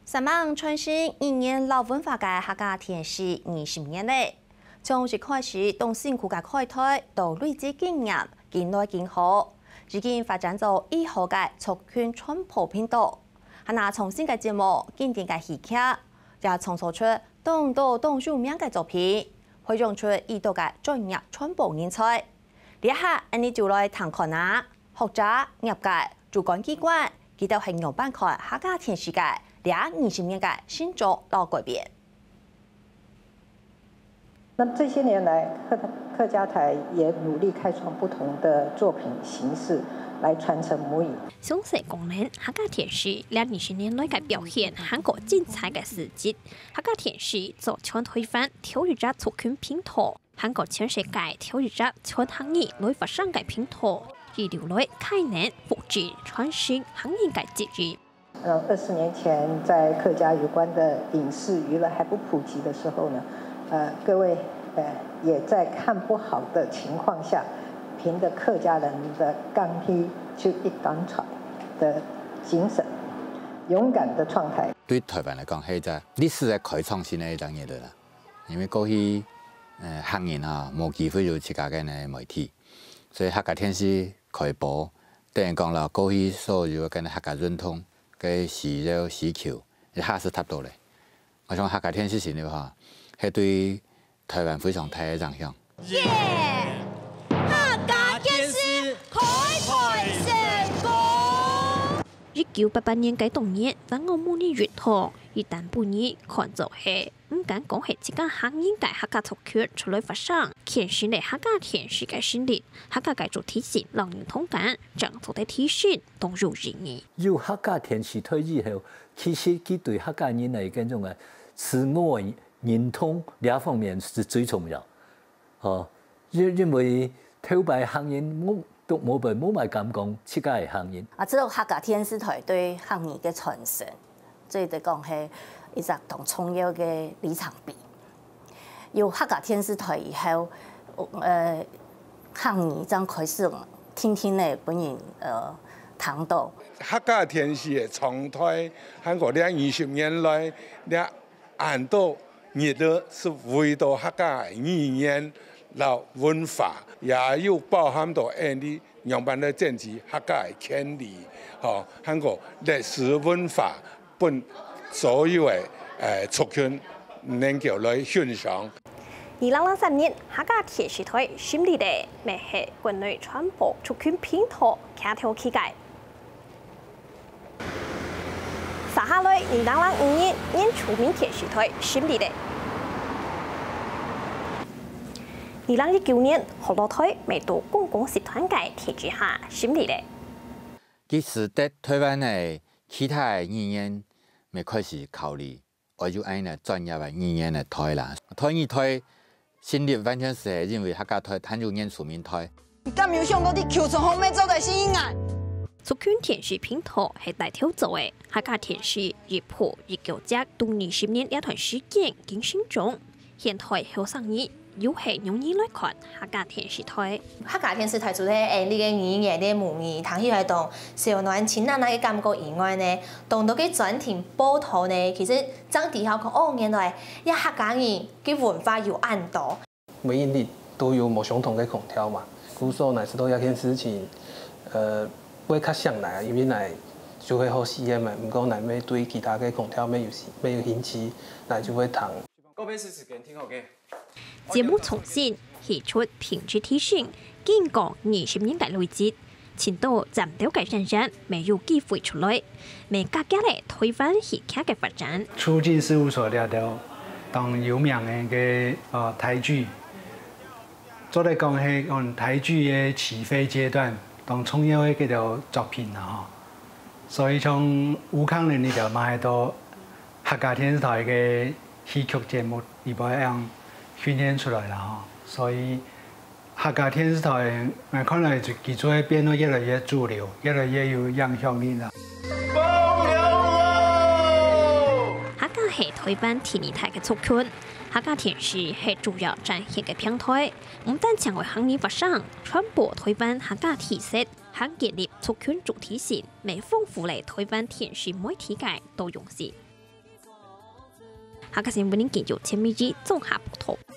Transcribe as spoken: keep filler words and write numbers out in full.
煞猛傳承語言摎文化个客家電視二十年咧，從一開始當辛苦个開台，到累積經驗，緊來緊好，已經發展做以後个族群傳播頻道。還有創新个節目、經典个戲劇，也創造出當多當有名个作品，培養出已多个專業傳播人才。這下，𫣆俚就來聽看啊！ 學者、業界、主管機關，佢兜係仰般看客家電視个這二十年个成長摎改變？那麼這些年來，客客家台也努力開創不同的作品形式來傳承母語。詳細講明客家電視這二十年來个表現，還過精彩个事蹟。客家電視做全台灣頭一隻族群頻道， 還過全世界頭一隻全客語來發聲个頻道，一路來開展、復振、傳承客語个責任。呃，二十年前在客家有關的影視娛樂還不普及的時候呢，呃，各位呃也在看不好的情況下，憑著客家人的剛毅就一當傳的精神，勇敢的創台。對台灣來講，係一隻歷史个開創性个一隻日子啦。 因為過去，呃，客人哈無機會有自家个呢媒體，所以客家電視開播，等於講了過去所有个呢客家運動个需要需求，一下子達到咧。𠊎想客家電視成立哈，係對台灣非常大个影響。耶！客家電視開台成功！一九八八年个當日，萬安母語運動，一旦分人看做係 毋敢講係自家客人个客家族群出來發聲，牽成了客家電視个成立，客家个主體性摎認同感，正做得提升當有意義。有客家電視台以後，其實佢對客家人个該種个自我認同這方面係最重要。吼，因因為頭擺客人無都無無麼敢講自家係客人。啊，這個客家電視台對客語个傳承， 做得講係一隻當重要个里程碑。有客家電視台以後，呃，客語正開始定定仔分人呃聽到。客家電視个長台，還過這二十年來，這恁多日仔係為著客家个語言摎文化，也有包含到𫣆俚 仰般來展示客家个權利，吼，還過歷史文化，分所有个呃族群能夠來欣賞。二零零三年，客家電視台成立咧，乜係國內傳播族群頻道擎頭起个。 續下來，二零零五年，原住民電視台成立咧。二零一九年，學老台乜在公共集團个體制下成立咧。佢使得台灣个其他个語言乜開始考慮，愛有恁呢專業个語言个台啦。台語台成立完全係因為客家台還有原住民台。 你敢有想過你求助方面做得吸引啊？族群電視頻道係帶頭做个，客家電視一百一九隻，到二十年這段時間經成長。現代後生人又係仰般來看客家電視台？客家電視台就係𫣆俚个語言个母語，聽起來當燒暖親切个感覺以外呢，當多个專題報導呢，其實正知曉講，哦，原來這客家人个文化有恁多。 每一日都有無相同个腔調嘛。故所𠊎知道這件事情，呃，會較想來，因為𠊎就會好試驗嘛。毋過𠊎乜對其他个腔調乜有乜有興趣，𠊎就會聽。節目創新、戲曲品質提升，經過二十年个累積， 盡多尖頭个演員乜有機會出來，乜加劇了台灣戲劇个發展。促進事務所這兜當有名个个呃台劇，做得講係講台劇个起飛階段當重要个該兜作品啦吼。所以像吳康仁這兜嘛係到客家電視台个戲曲節目裡背恁樣訓練出來啦吼。所以 客家電視台，𠊎看來佢就會變到越來越主流，越來越有影響力啦。客家係台灣第二大个族群，客家電視係主要展現个平台，毋單淨為客語發聲，傳播台灣客家特色，還建立族群主體性，乜豐富了台灣電視媒體个多樣性。客家新聞研究陳美芝綜合報導。